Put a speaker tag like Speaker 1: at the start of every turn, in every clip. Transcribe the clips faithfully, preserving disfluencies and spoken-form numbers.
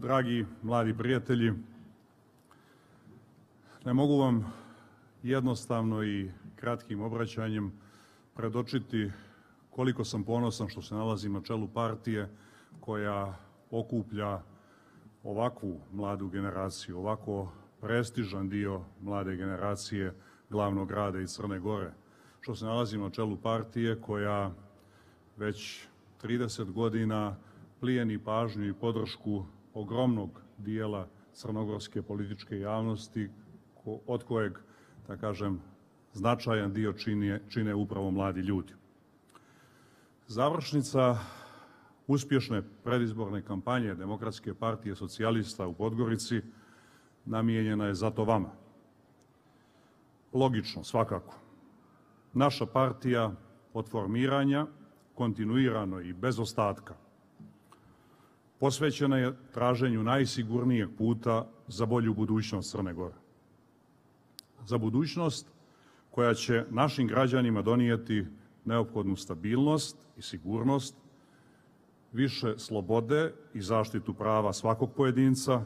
Speaker 1: dragi mladi prijatelji, ne mogu vam jednostavno i kratkim obraćanjem predočiti koliko sam ponosan što se nalazim na čelu partije koja okuplja ovakvu mladu generaciju, ovako prestižan dio mlade generacije glavnog grada iz Crne Gore, što se nalazim na čelu partije koja već trideset godina plijeni pažnju i podršku ogromnog dijela crnogorske političke javnosti, od kojeg, da kažem, značajan dio čine, čine upravo mladi ljudi. Završnica uspješne predizborne kampanje Demokratske partije socijalista u Podgorici namijenjena je zato vama. Logično, svakako. Naša partija od formiranja, kontinuirano i bez ostatka, posvećena je traženju najsigurnijeg puta za bolju budućnost Crne Gore. Za budućnost koja će našim građanima donijeti neophodnu stabilnost i sigurnost, više slobode i zaštitu prava svakog pojedinca,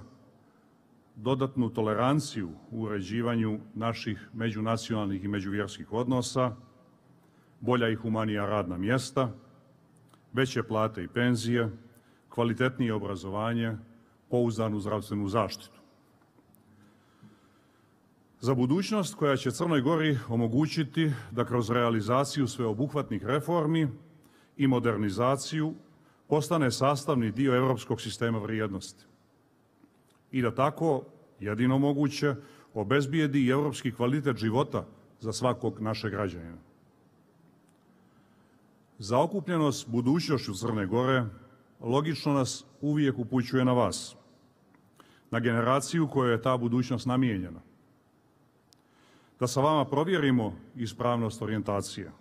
Speaker 1: dodatnu toleranciju u uređivanju naših međunacionalnih i međuvjerskih odnosa, bolja i humanija radna mjesta, veće plate i penzije, kvalitetnije obrazovanje, pouzdanu zdravstvenu zaštitu. Za budućnost koja će Crnoj Gori omogućiti da kroz realizaciju sveobuhvatnih reformi i modernizaciju postane sastavni dio europskog sistema vrijednosti i da tako, jedino moguće, obezbijedi i europski kvalitet života za svakog našeg građanina. Zaokupljenost budućnošću Crne Gore logično nas uvijek upućuje na vas, na generaciju kojoj je ta budućnost namijenjena. Da sa vama provjerimo ispravnost orijentacije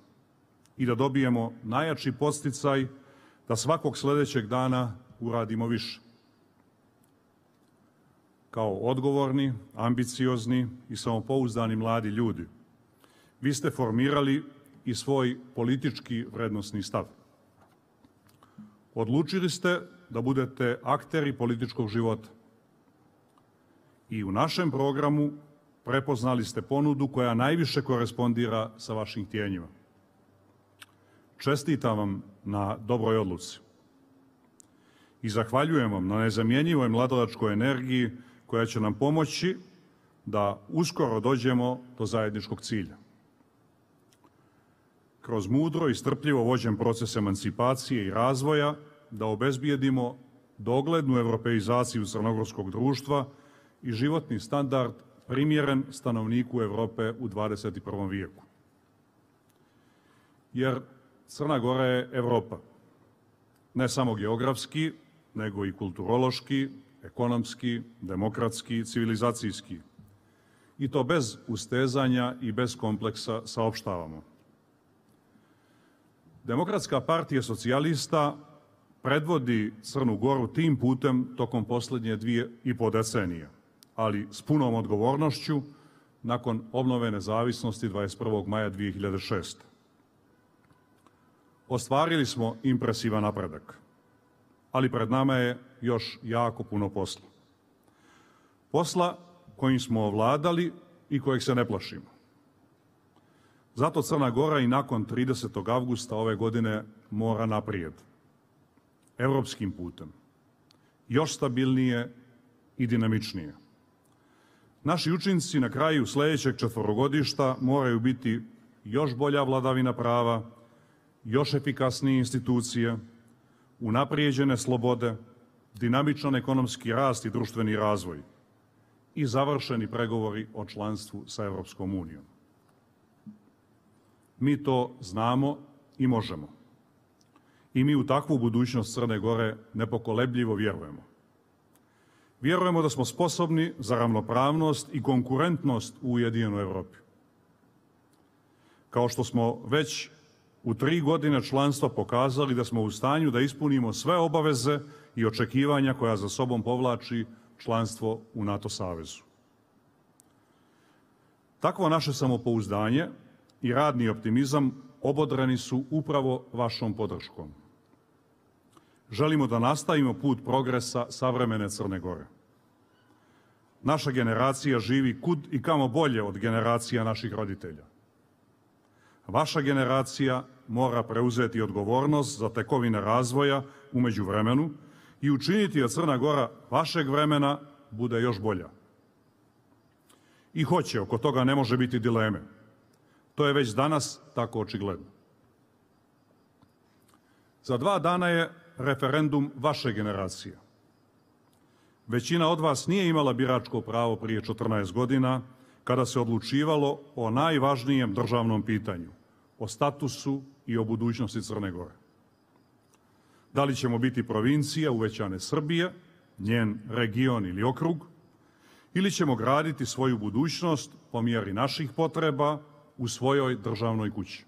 Speaker 1: i da dobijemo najjači podsticaj da svakog sljedećeg dana uradimo više. Kao odgovorni, ambiciozni i samopouzdani mladi ljudi, vi ste formirali i svoj politički vrednosni stav. Odlučili ste da budete akteri političkog života. I u našem programu prepoznali ste ponudu koja najviše korespondira sa vašim htjenjima. Čestitam vam na dobroj odluci i zahvaljujem vam na nezamjenjivoj mladodačkoj energiji koja će nam pomoći da uskoro dođemo do zajedničkog cilja. Kroz mudro i strpljivo vođen proces emancipacije i razvoja da obezbijedimo doglednu europeizaciju crnogorskog društva i životni standard primjeren stanovniku Europe u dvadeset prvom vijeku. Jer Crna Gora je Europa, ne samo geografski, nego i kulturološki, ekonomski, demokratski, civilizacijski. I to bez ustezanja i bez kompleksa saopštavamo. Demokratska partija socijalista predvodi Crnu Goru tim putem tokom posljednje dvije i po decenije, ali s punom odgovornošću nakon obnove nezavisnosti dvadeset prvog maja dvije hiljade šeste. Ostvarili smo impresivan napredak, ali pred nama je još jako puno posla. Posla kojim smo ovladali i kojeg se ne plašimo. Zato Crna Gora i nakon tridesetog avgusta ove godine mora naprijed, europskim putem, još stabilnije i dinamičnije. Naši učinci na kraju sljedećeg četverogodišta moraju biti još bolja vladavina prava, još efikasnije institucije, unaprijeđene slobode, dinamičan ekonomski rast i društveni razvoj i završeni pregovori o članstvu sa Europskom unijom. Mi to znamo i možemo. I mi u takvu budućnost Crne Gore nepokolebljivo vjerujemo. Vjerujemo da smo sposobni za ravnopravnost i konkurentnost u ujedinjenoj Europi. Kao što smo već u tri godine članstva pokazali da smo u stanju da ispunimo sve obaveze i očekivanja koja za sobom povlači članstvo u NATO savezu. Takvo naše samopouzdanje i radni optimizam obodrani su upravo vašom podrškom. želimo da nastavimo put progresa savremene Crne Gore. Naša generacija živi kud i kamo bolje od generacija naših roditelja. Vaša generacija mora preuzeti odgovornost za tekovine razvoja u međuvremenu i učiniti da Crna Gora vašeg vremena bude još bolja. I hoće, oko toga ne može biti dileme. To je već danas tako očigledno. Za dva dana je referendum vaše generacije. Većina od vas nije imala biračko pravo prije četrnaest godina, kada se odlučivalo o najvažnijem državnom pitanju, o statusu i o budućnosti Crne Gore. Da li ćemo biti provincija uvećane Srbije, njen region ili okrug, ili ćemo graditi svoju budućnost po mjeri naših potreba u svojoj državnoj kući.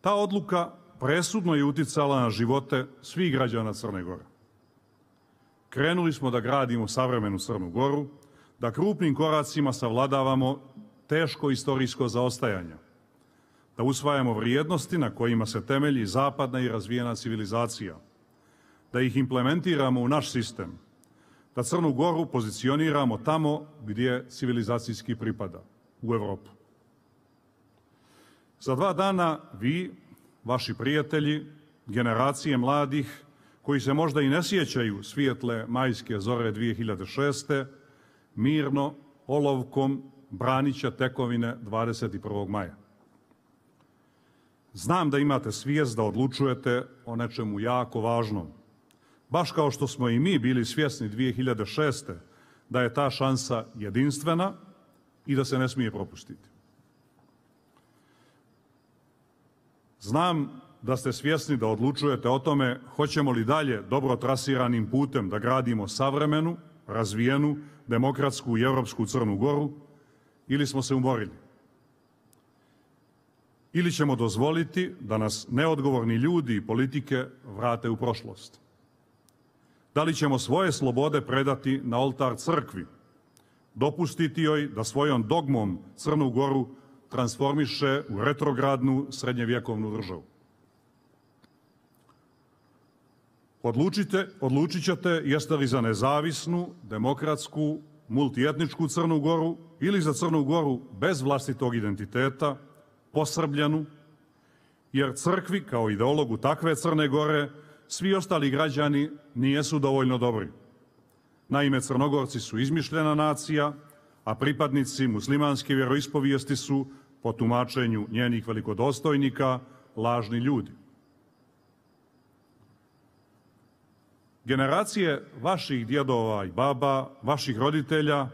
Speaker 1: Ta odluka presudno je uticala na živote svih građana Crne Gore. Krenuli smo da gradimo savremenu Crnu Goru, da krupnim koracima savladavamo teško istorijsko zaostajanje, da usvajamo vrijednosti na kojima se temelji zapadna i razvijena civilizacija, da ih implementiramo u naš sistem, da Crnu Goru pozicioniramo tamo gdje civilizacijski pripada, u Evropu. Za dva dana vi, vaši prijatelji, generacije mladih, koji se možda i ne sjećaju svijetle majske zore dvije hiljade šeste. mirno, olovkom branit će tekovine dvadeset prvog maja. Znam da imate svijest da odlučujete o nečemu jako važnom, baš kao što smo i mi bili svjesni dvije hiljade šeste. da je ta šansa jedinstvena i da se ne smije propustiti. Znam da ste svjesni da odlučujete o tome hoćemo li dalje dobro trasiranim putem da gradimo savremenu, razvijenu, demokratsku i europsku Crnu Goru ili smo se umorili. Ili ćemo dozvoliti da nas neodgovorni ljudi i politike vrate u prošlost. Da li ćemo svoje slobode predati na oltar crkvi, dopustiti joj da svojom dogmom Crnu Goru transformiše u retrogradnu srednjevjekovnu državu. Odlučite, odlučit ćete jeste li za nezavisnu, demokratsku, multietničku Crnu Goru ili za Crnu Goru bez vlastitog identiteta, posrbljenu, jer crkvi kao ideologu takve Crne Gore svi ostali građani nijesu dovoljno dobri. Naime, Crnogorci su izmišljena nacija, a pripadnici muslimanske vjeroispovijesti su, po tumačenju njenih velikodostojnika, lažni ljudi. Generacije vaših djedova i baba, vaših roditelja,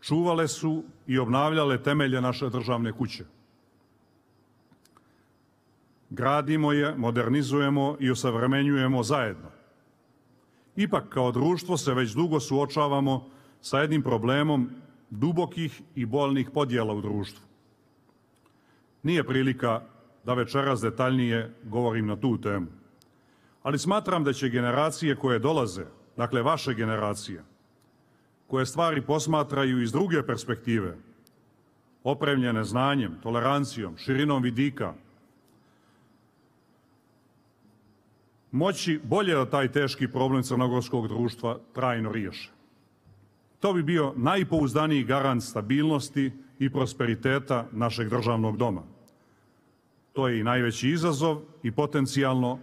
Speaker 1: čuvale su i obnavljale temelje naše državne kuće. Gradimo je, modernizujemo i osavremenjujemo zajedno. Ipak, kao društvo se već dugo suočavamo sa jednim problemom dubokih i bolnih podjela u društvu. Nije prilika da večeras detaljnije govorim na tu temu, ali smatram da će generacije koje dolaze, dakle vaše generacije, koje stvari posmatraju iz druge perspektive, opremljene znanjem, tolerancijom, širinom vidika, moći bolje da taj teški problem crnogorskog društva trajno riješe. To bi bio najpouzdaniji garant stabilnosti i prosperiteta našeg državnog doma. To je i najveći izazov i potencijalno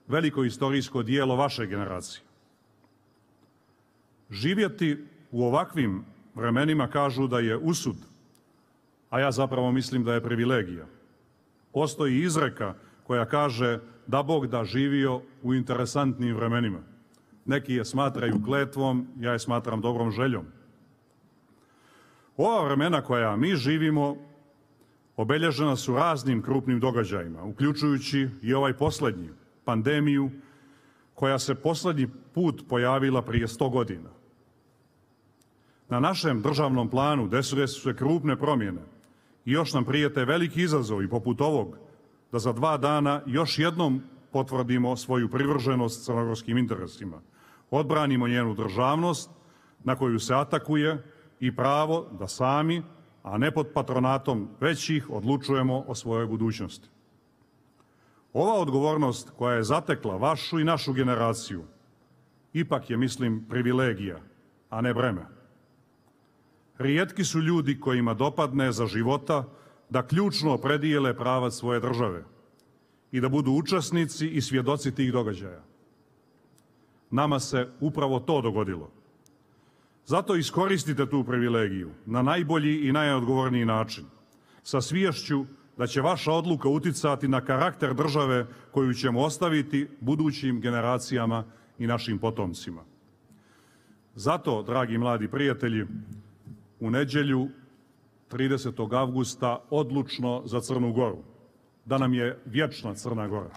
Speaker 1: veliko istorijsko dijelo vaše generacije. Živjeti u ovakvim vremenima kažu da je usud, a ja zapravo mislim da je privilegija. Postoji izreka koja kaže da Bog da živio u interesantnim vremenima. Neki je smatraju kletvom, ja je smatram dobrom željom. Ova vremena koja mi živimo obilježena su raznim krupnim događajima, uključujući i ovaj posljednji, pandemiju, koja se posljednji put pojavila prije sto godina. Na našem državnom planu desile su se krupne promjene i još nam prijete veliki izazovi poput ovog, da za dva dana još jednom potvrdimo svoju privrženost crnogorskim interesima, odbranimo njenu državnost na koju se atakuje i pravo da sami, a ne pod patronatom većih, odlučujemo o svojoj budućnosti. Ova odgovornost koja je zatekla vašu i našu generaciju ipak je, mislim, privilegija, a ne breme. Rijetki su ljudi kojima dopadne za života da ključno opredijele pravac svoje države i da budu učesnici i svjedoci tih događaja. Nama se upravo to dogodilo. Zato iskoristite tu privilegiju na najbolji i najodgovorniji način, sa sviješću da će vaša odluka uticati na karakter države koju ćemo ostaviti budućim generacijama i našim potomcima. Zato, dragi mladi prijatelji, u nedjelju tridesetog avgusta odlučno za Crnu Goru, da nam je vječna Crna Gora.